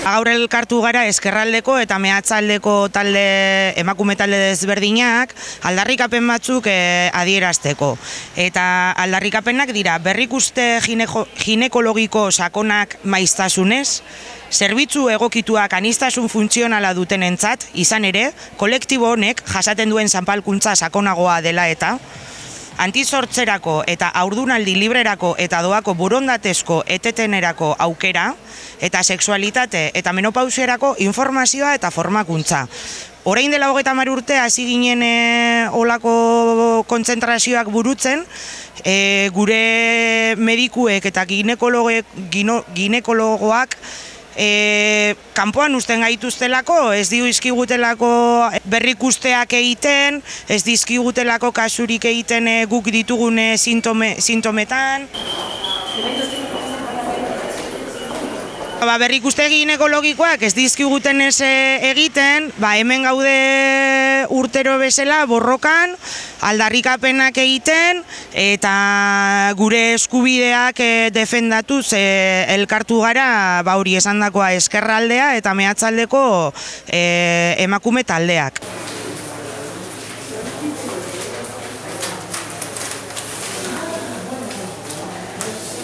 Gaur elkartu gara ezkerraldeko eta mehatzaldeko talde, emakume talde desberdinak, aldarrikapen batzuk adierazteko. Eta aldarrikapenak dira, berrikuste ginekologiko sakonak maiztasunez, zerbitzu egokituak aniztasun funtzionala dutenentzat, izan ere, kolektibo honek jasaten duen zanpalkuntza sakonagoa dela eta, antizortzerako eta haurdunaldi librerako eta doako borondatezko etetenerako aukera, eta sexualitate eta menopausiarako informazioa eta formakuntza. Orain dela 30 urte hasi ginen olako kontzentrazioak burutzen, gure medikuek eta ginekologoak kanpoan usten gaituztelako, ez dizkigutelako berrikusteak egiten, ez dizkigutelako kasurik egiten guk ditugune sintometan. Berrikuste ginekologikoak ez dizkiguten ez egiten, hemen gaude urtero bezala borrokan, aldarrikapenak egiten eta gure eskubideak defendatuz elkartu gara hori esandakoa ezkerraldea eta mehatzaldeko emakume taldeak.